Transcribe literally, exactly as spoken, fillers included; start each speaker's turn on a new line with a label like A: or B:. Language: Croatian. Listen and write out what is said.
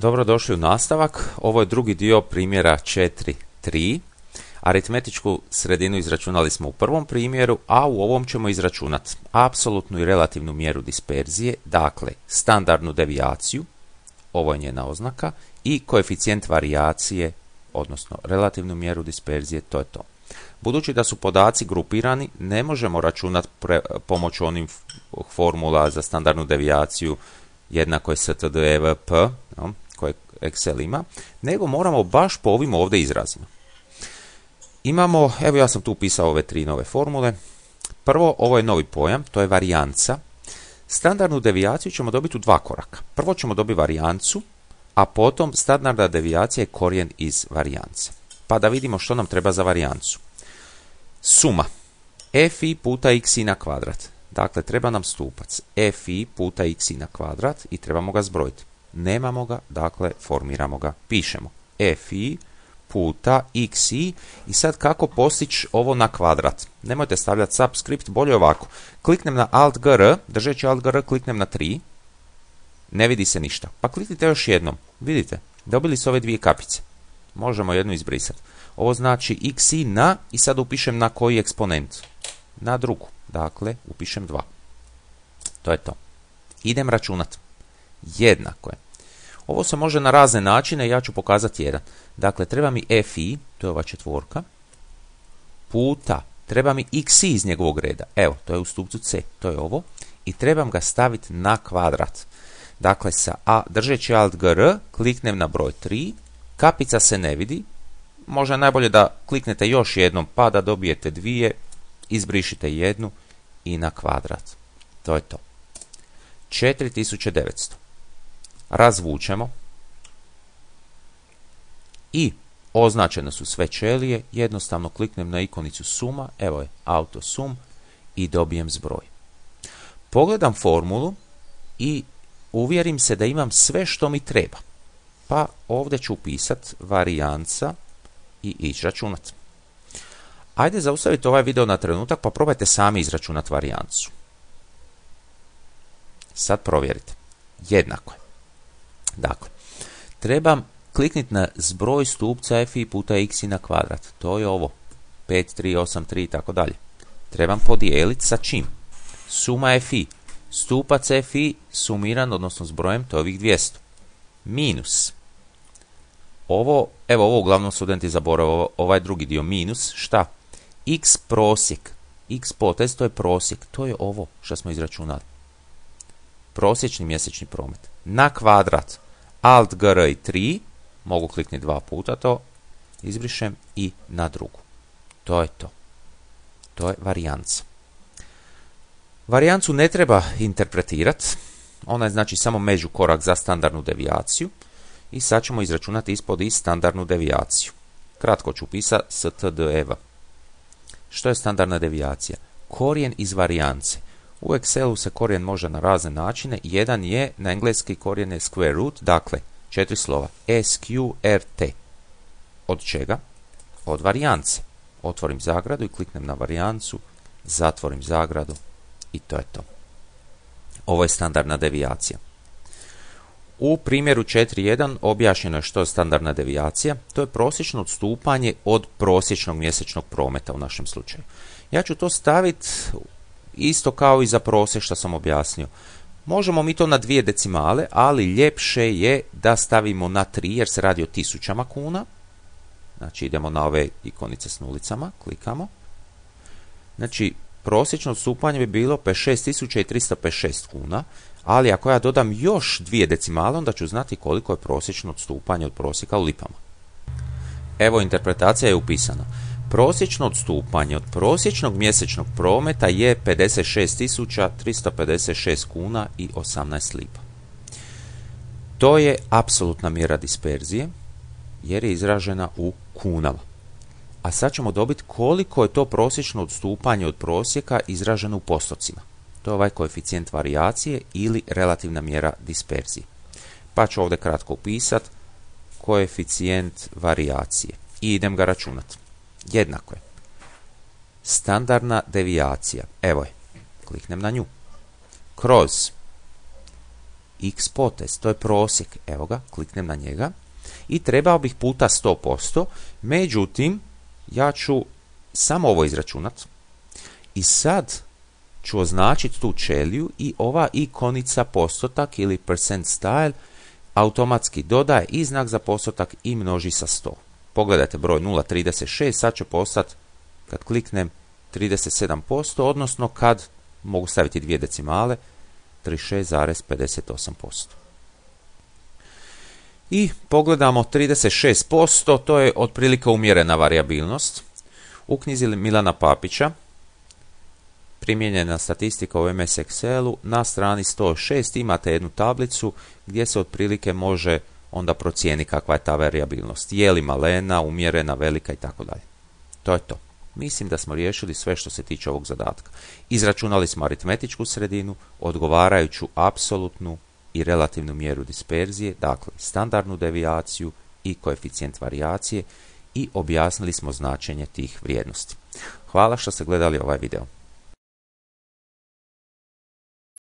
A: Dobrodošli u nastavak. Ovo je drugi dio primjera četiri tri. Aritmetičku sredinu izračunali smo u prvom primjeru, a u ovom ćemo izračunati apsolutnu i relativnu mjeru disperzije, dakle standardnu devijaciju, ovo je njena oznaka, i koeficijent varijacije, odnosno relativnu mjeru disperzije, to je to. Budući da su podaci grupirani, ne možemo računati pomoću onih formula za standardnu devijaciju jednako je stdevp, no, koje Excel ima, nego moramo baš po ovim ovdje izrazima. Imamo, evo ja sam tu upisao ove tri nove formule. Prvo, ovo je novi pojam, to je varijanca. Standardnu devijaciju ćemo dobiti u dva koraka. Prvo ćemo dobiti varijancu, a potom standardna devijacija je korijen iz varijance. Pa da vidimo što nam treba za varijancu. Suma fi puta xi na kvadrat. Dakle, treba nam stupac fi puta xi na kvadrat i trebamo ga zbrojiti. Nemamo ga, dakle, formiramo ga, pišemo fi puta xi i sad kako postići ovo na kvadrat. Nemojte stavljati subscript, bolje ovako. Kliknem na alt gr, držeći alt gr, kliknem na tri, ne vidi se ništa. Pa kliknite još jednom, vidite, dobili su ove dvije kapice. Možemo jednu izbrisati. Ovo znači xi na, i sad upišem na koji eksponent? Na drugu, dakle, upišem dva. To je to. Idem računati. Jednako je. Ovo se može na razne načine, ja ću pokazati jedan. Dakle, treba mi fi, to je ova četvorka, puta, treba mi xi iz njegovog reda. Evo, to je u stupcu c, to je ovo. I trebam ga staviti na kvadrat. Dakle, sa a, držeći alt gr, kliknem na broj tri, kapica se ne vidi. Možda najbolje da kliknete još jednom pa da dobijete dvije, izbrišite jednu i na kvadrat. To je to. četiri tisuće devetsto. Razvučemo i označene su sve ćelije, jednostavno kliknem na ikonicu suma, evo je auto sum i dobijem zbroj. Pogledam formulu i uvjerim se da imam sve što mi treba. Pa ovdje ću upisati varijanca i ići računati. Ajde zaustavite ovaj video na trenutak pa probajte sami izračunati varijancu. Sad provjerite. Jednako je. Dakle, trebam klikniti na zbroj stupca fi puta xi na kvadrat. To je ovo. pet, tri, osam, tri i tako dalje. Trebam podijeliti sa čim? Suma fi. Stupac fi sumiran, odnosno zbrojem, to je ovih dvjesto. Minus. Ovo, evo ovo uglavnom studenti zaborave, ovaj drugi dio minus, šta? X prosjek. X potez, to je prosjek. To je ovo što smo izračunali. Prosječni mjesečni promet. Na kvadrat. Alt gr i tri. Mogu kliknuti dva puta to. Izbrišem i na drugu. To je to. To je varijanca. Varijancu ne treba interpretirati. Ona je znači samo međukorak za standardnu devijaciju. I sad ćemo izračunati ispod i standardnu devijaciju. Kratko ću upisati stdev. Što je standardna devijacija? Korijen iz varijance. U Excelu se korijen može na razne načine. Jedan je, na engleski korijen je square root, dakle, četiri slova. sqrt. Od čega? Od varijance. Otvorim zagradu i kliknem na varijancu, zatvorim zagradu i to je to. Ovo je standardna devijacija. U primjeru četiri jedan objašnjeno je što je standardna devijacija. To je prosječno odstupanje od prosječnog mjesečnog prometa u našem slučaju. Ja ću to staviti isto kao i za prosjek što sam objasnio. Možemo mi to na dvije decimale, ali ljepše je da stavimo na tri jer se radi o tisućama kuna. Znači idemo na ove ikonice s nulicama, klikamo. Znači prosječno odstupanje bi bilo pedeset šest tisuća tristo pedeset šest kuna, ali ako ja dodam još dvije decimale, onda ću znati koliko je prosječno odstupanje od prosjeka u lipama. Evo, interpretacija je upisana. Prosječno odstupanje od prosječnog mjesečnog prometa je pedeset šest tisuća tristo pedeset šest kuna i osamnaest lipa. To je apsolutna mjera disperzije, jer je izražena u kunama. A sad ćemo dobiti koliko je to prosječno odstupanje od prosjeka izraženo u postocima. To je ovaj koeficijent varijacije ili relativna mjera disperzije. Pa ću ovdje kratko upisati koeficijent varijacije i idem ga računati. Jednako je. Standardna devijacija, evo je, kliknem na nju. Kroz x potez, to je prosjek, evo ga, kliknem na njega i trebao bih puta sto posto, međutim, ja ću samo ovo izračunat i sad ću označiti tu ćeliju i ova ikonica postotak ili percent style automatski dodaje i znak za postotak i množi sa sto. Pogledajte broj nula zarez trideset šest, sad će postati, kad kliknem, trideset sedam posto, odnosno kad mogu staviti dvije decimale, trideset šest zarez pedeset osam posto. I pogledamo trideset šest posto, to je otprilike umjerena varijabilnost. U knjizi Milana Papića, primijenjena statistika u em es Excelu, na strani sto šest imate jednu tablicu gdje se otprilike može onda procijeni kakva je ta varijabilnost. Je li malena, umjerena, velika i tako dalje. To je to. Mislim da smo riješili sve što se tiče ovog zadatka. Izračunali smo aritmetičku sredinu, odgovarajuću apsolutnu i relativnu mjeru disperzije, dakle standardnu devijaciju i koeficijent varijacije, i objasnili smo značenje tih vrijednosti. Hvala što ste gledali ovaj video.